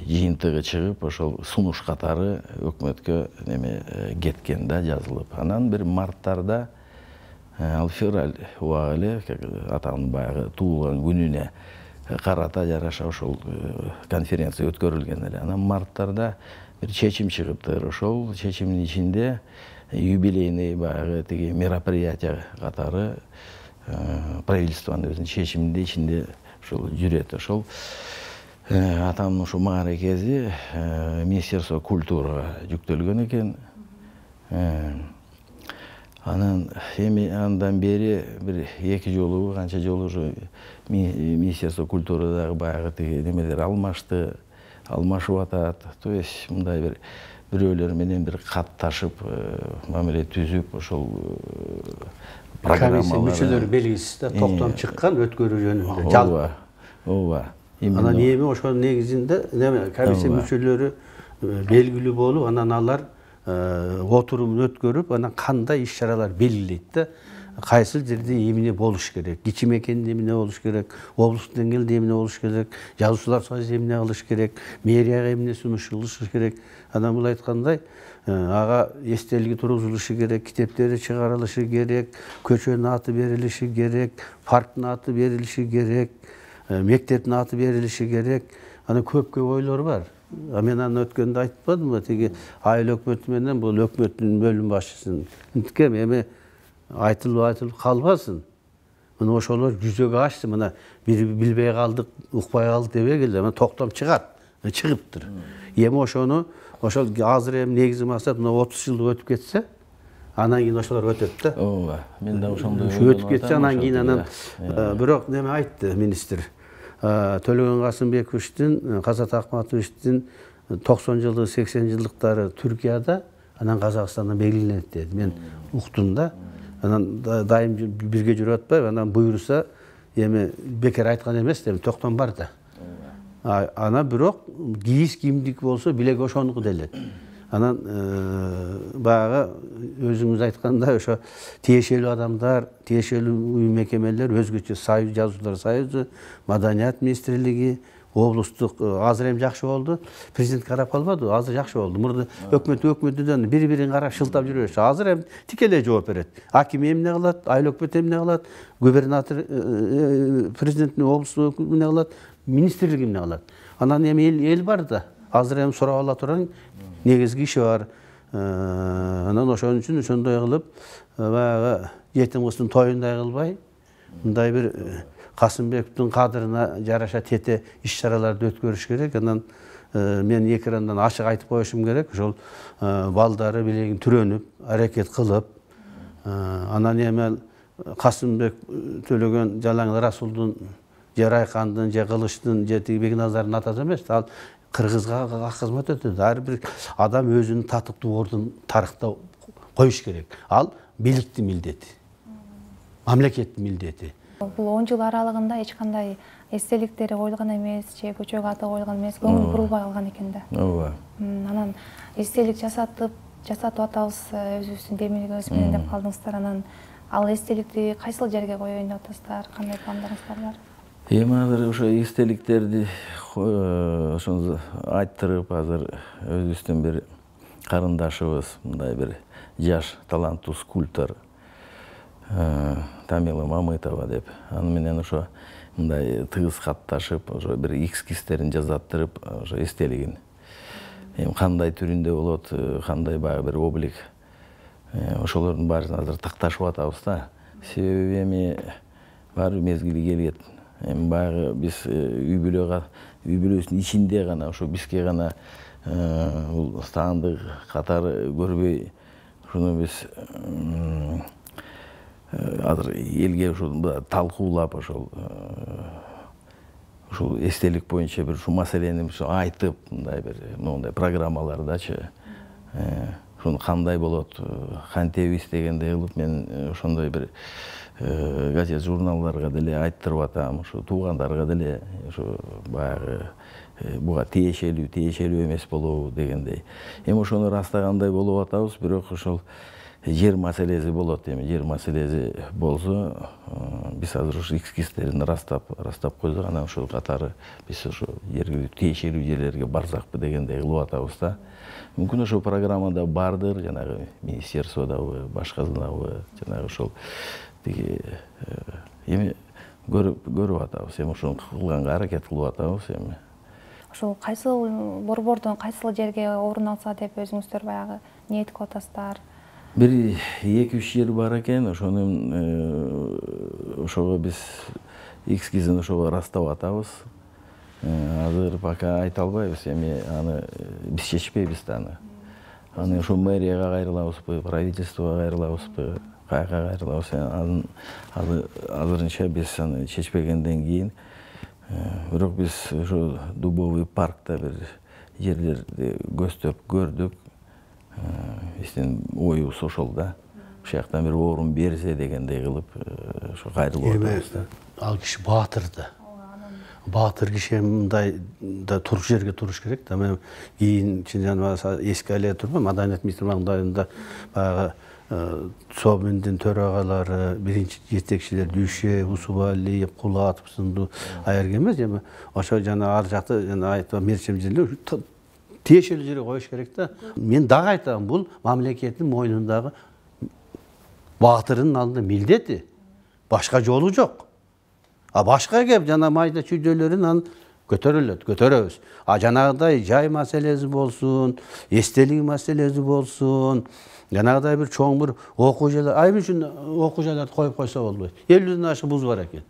жыйынтыгы чыгып, ошол сунуш катары өкмөткө неме кеткен да, жазылып. Анан бир марттарда ал февраль убагы эле атанын баягы туулган күнүнө карата жараша ошол конференция өткөрүлгөн эле. Анан марттарда бир чечим чыгыптыр. Ошол чечимдин ичинде юбилейный баягы тиги мероприятие катары правительствонун өзүнүн чечиминин ичинде ошол жүрөт. Ошол атамдын ошо мааракези Министерство культурага жүктөлгөн экен. Анан эми андан бери бир эки жолу, канча жолу ошо Министерство культурадагы баягы тиги немелер алмашты, алмашып атат. То есть мындай бир бирөөлөр менен бир катташып, мамиле түзүп, ошол программалар. Комиссия мүчөлөрү белгисиз да токтом чыккан өткөрүү жөнүндө. Ооба. Ооба. Анан эми ошонун негизинде комиссия мүчөлөрү белгилүү болуп, анан алар отурумун өткөрүп, анан кандай иш-чаралар белгилейт да. Кайсыл жерде эмне болуш керек, кичи мекенде эмне болуш керек, облустук деңгээлде эмне болуш керек, жазуучулар союзу эмне кылыш керек, мэрияга эмне сунуш кылыш керек. Анан бул айткандай, ага эстелиги тургузулушу керек, китептери чыгарылышы керек, көчөнүн аты берилиши керек, парктын аты берилиши керек, мектептин аты берилиши керек. Анан көп көп ойлор бар. Мен аны өткөндө айтпадымбы, тиги айыл өкмөтү менен бул өкмөттүн бөлүм башчысын. Инткем эми айтылып айтылып калбасын. Мына ошолор жүзөгө ашты, мына бири билбей калдык, укпай калдык дебегиле, мына токтом чыгат, чыгыптыр. Эми ошону ошол азыр эми негизги максат мына отуз жыл өтүп кетсе, анан кийин ошолор өтөт да. Ооба, мен да ошондой өтүп кетсе, анан кийин анан бирок неме айтты министр. Төлөгөн Касымбековичтин, Казат Акматовичтин токсон жылдык, сексен жылдыктары Түркияда, анан Казакстандан белгиленет деди. Мен уктум да. Анан дайым бирге жүрүп атпайбы, анан буйруса эми бекер айткан эмес, эми токтом бар да. Анан бирок кийиз кимдик болсо билеги ошонуку деле. Анан баягы өзүңүз айткандай ошо тиешелүү адамдар, тиешелүү уюм мекемелер, өзгөчө союз, жазуучулар союзу, Маданият министрлиги, облустук азыр эми жакшы болду. Президент карап калбады, азыр жакшы болду. Мурда өкмөт өкмөтүнөн бири-бирин карап шылтап жүрөчү. Азыр эми тикелей жооп берет. Аким эмне кылат, айыл өкмөтү эмне кылат, губернатор президенттин облустук өкмөтү эмне кылат, министрлик эмне кылат. Анан эми эл бар да. Азыр эми сурап ала турган негизги иши бар. Анан ошон үчүн ошондой кылып, баягы жетим кыздын тоюндай кылбай, мындай бир Касымбековдун кадырына жараша тете иш-чараларды өткөрүш керек. Анан мен экрандан ачык айтып коюшум керек. Ошол балдары билегин түрөнүп, аракет кылып, анан эми Касымбек Төлөгөн Жалаң Расулдун, же Райкандын, же Кылычтын, же тиги Бекназардын атасы эмес, ал кыргызга кызмат өтөт. Ар бир адам өзүнүн татыктуу ордун тарыхта коюш керек. Ал бийликтин милдети, мамлекеттин милдети. Бул он жыл аралыгында эч кандай эстеликтери коюлган эмес, же көчөгө аты коюлган эмес, көңүл бурулбай калган экен да. Ооба. Анан эстелик жасатып, жасатып атабыз, өзүбүздүн демилгибиз менен деп калдыңыздар. Анан ал эстеликти кайсыл жерге коеюн деп атасыздар, кандай пландарыңыздар бар? Эми азыр ошо эстеликтерди ошону айттырып, азыр өзүбүздүн бир карындашыбыз, мындай бир жаш таланттуу скульптор Тамила Мамытова деп, аны менен ошо мындай тыгыз катташып, ошо бир эскизтерин жазаттырып, ошо эстелигин эми кандай түрүндө болот, кандай баягы бир облик, ошолордун баарын азыр такташып атабыз да. Себеби эми баары мезгили келет. Эми баягы биз үй бүлөгө, үй бүлөсүнүн ичинде гана ошо бизге гана бул стандык катары көрбөй, ушуну биз азыр элге ушул талкуулап, ошол ушул эстелик боюнча бир ушул маселени айтып, мындай бир моундай программалардачы ушуну кандай болот, кантебиз дегендей кылып мен ошондой бир газет журналдарга деле айттырып атам, ушу туугандарга деле ушу баягы буга тиешелүү, тиешелүү эмес болобу дегендей. Эми ошону растагандай болуп атабыз, бирок ошол жер маселеси болот. Эми жер маселеси болсо, биз азыр ушу эскизтерин растап, растап койдук. Анан ошол катары биз ушу жергиликтүү тиешелүү жерлерге барсакпы дегендей кылып атабыз да. Мүмкүн ошол программада бардыр, жанагы министерстводабы, башкасынабы, жанагы ошол тиги эми көрүп көрүп атабыз. Эми ошону кылганга аракет кылып атабыз эми. Ошол кайсыл борбордон кайсыл жерге орун алса деп өзүңүздөр баягы ниет кылып атасыздар? Бир эки үч жер бар экен, ошонун ошого биз эскизин ошого растап атабыз. Азыр пока айта албайбыз, эми аны биз чечпейбиз да аны. Аны ошо мэрияга кайрылабызбы, правительствого кайрылабызбы, каяка кайрылабыз, аны азырынча биз аны чечпегенден кийин, бирок биз ошо Дубовый паркта бир жерлерди көздөп көрдүк. Биздин оюбуз ошол да. Ошол жактан бир орун берсе дегендей кылып ошо кайрылып атабыз да. Ал киши баатыр да. баатыр киши мындай да туруш жерге туруш керек да. Мен кийин эске але турмун, Маданият министри маңдайында баягы Собиндин төрагалары, биринчи жетекчилер Дүйшев, Усубалиев, Кулатов сынду аерге эмес, эми ошо жана ар жакты жана айтып мерчем жерлер тиешелүү жерге коюш керек да. Мен дагы айтам, бул мамлекеттин мойнундагы баатырдын алдында милдети. Башка жолу жок. А башка кеп жана майда чүйдөлөрүн анын көтөрүлөт, көтөрөбүз. А жанагыдай жай маселеси болсун, эстелик маселеси болсун, жанагыдай бир чоң бир окуу жайлар, а эмне үчүн окуу жайларды коюп койсо болбойт? элүүдөн ашык буз бар экен.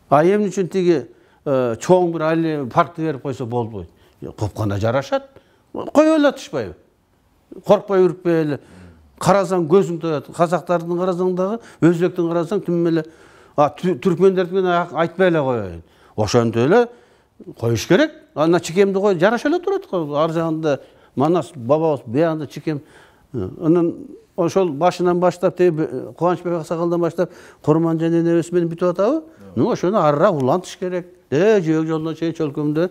А эмне үчүн тиги чоң бир паркты берип койсо болбойт? Копканда жарашат. Кое элатышпайбы? Коркпой үрүкпөй эле. Карасаң көзүң тоят. Казактардын карасаң дагы, өзбектин карасаң түм эле, а түркмендердикин айтпай эле коеюн. Ошентип эле коюш керек. Ана чекемди кой, жараша эле турат го. Ар жагында Манас бабабыз биягында чекем. Анан ошол башынан баштап, Кубанычбек аксакалдан баштап Курманжан энебиз менен бүтүп атабы? Ну ошону арыраак улантыш керек. Э, жөөк жолдон чейин чөлкөмдө.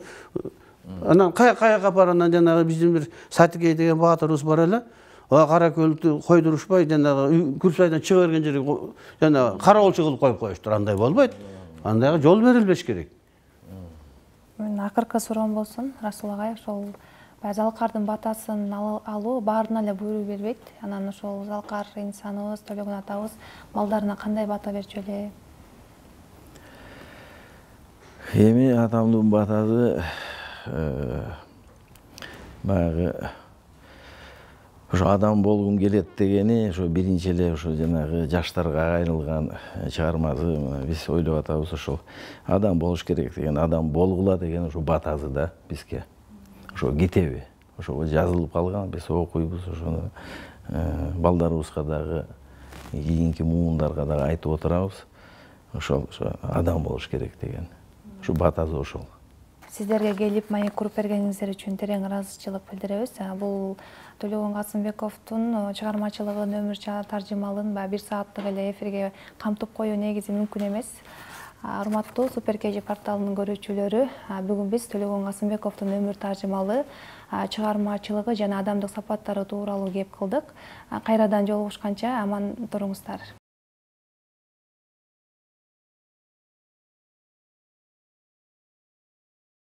Анан каяка апар, анан жанагы биздин бир Сатикей деген баатырыбыз бар эле. Кара көлдү койдурушпай, жанагы Күрсайдан чыга берген жерге жана кароолчу кылып коюп коюштур. Андай болбойт. Андайга жол берилбеш керек. Мен акыркы суроом болсун, Расул агай, ошол Залкардын батасын алуу баарына эле буйрук бербейт. Анан ошол Залкар инсаныбыз, Төлөгөн атабыз балдарына кандай бата берчү эле? Эми атамдын батасы баягы ошо адам болгум келет дегени, ошо биринчи эле ошо жанагы жаштарга айрылган чыгармасы биз ойлоп атабыз. Ошол адам болуш керек деген, адам болгула деген ошо батасы да бизге. Ошо китеби, ошого жазылып калган, биз окуйбуз, ошону балдарыбызга дагы, кийинки муундарга дагы айтып отурабыз. Ошол адам болуш керек деген. Ошо батасы ошол. Сиздерге келип маек куруп бергениңиздер үчүн терең ыраазычылык билдиребиз. Бул Төлөгөн Касымбековдун чыгармачылыгын, өмүр таржымалын бир сааттык эле эфирге камтып коюу негизи мүмкүн эмес. Урматтуу Супер КЖ порталынын көрүүчүлөрү, бүгүн биз Төлөгөн Касымбековдун өмүр таржымалы, чыгармачылыгы жана адамдык сапаттары тууралуу кеп кылдык. Кайрадан жолугушканча аман туруңуздар.